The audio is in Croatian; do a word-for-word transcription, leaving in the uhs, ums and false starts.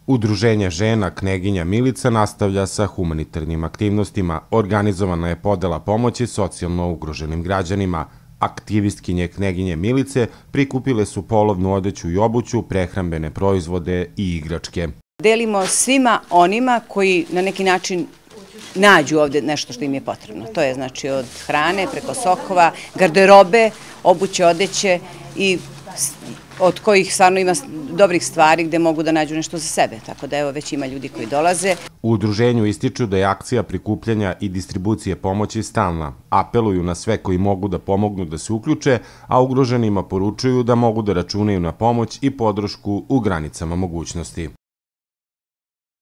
Udruženje žena Kneginja Milica nastavlja sa humanitarnim aktivnostima. Organizovana je podela pomoći socijalno ugroženim građanima. Aktivistkinje Kneginje Milice prikupile su polovnu odeću i obuću, prehrambene proizvode i igračke. Delimo svima onima koji na neki način nađu ovde nešto što im je potrebno. To je znači od hrane preko sokova, garderobe, obuće, odeće i od kojih stvarno ima dobrih stvari gde mogu da nađu nešto za sebe. Tako da evo već ima ljudi koji dolaze. U udruženju ističu da je akcija prikupljanja i distribucije pomoći stalna. Apeluju na sve koji mogu da pomognu da se uključe, a ugroženima poručuju da mogu da računaju na pomoć i podršku u granicama mogućnosti.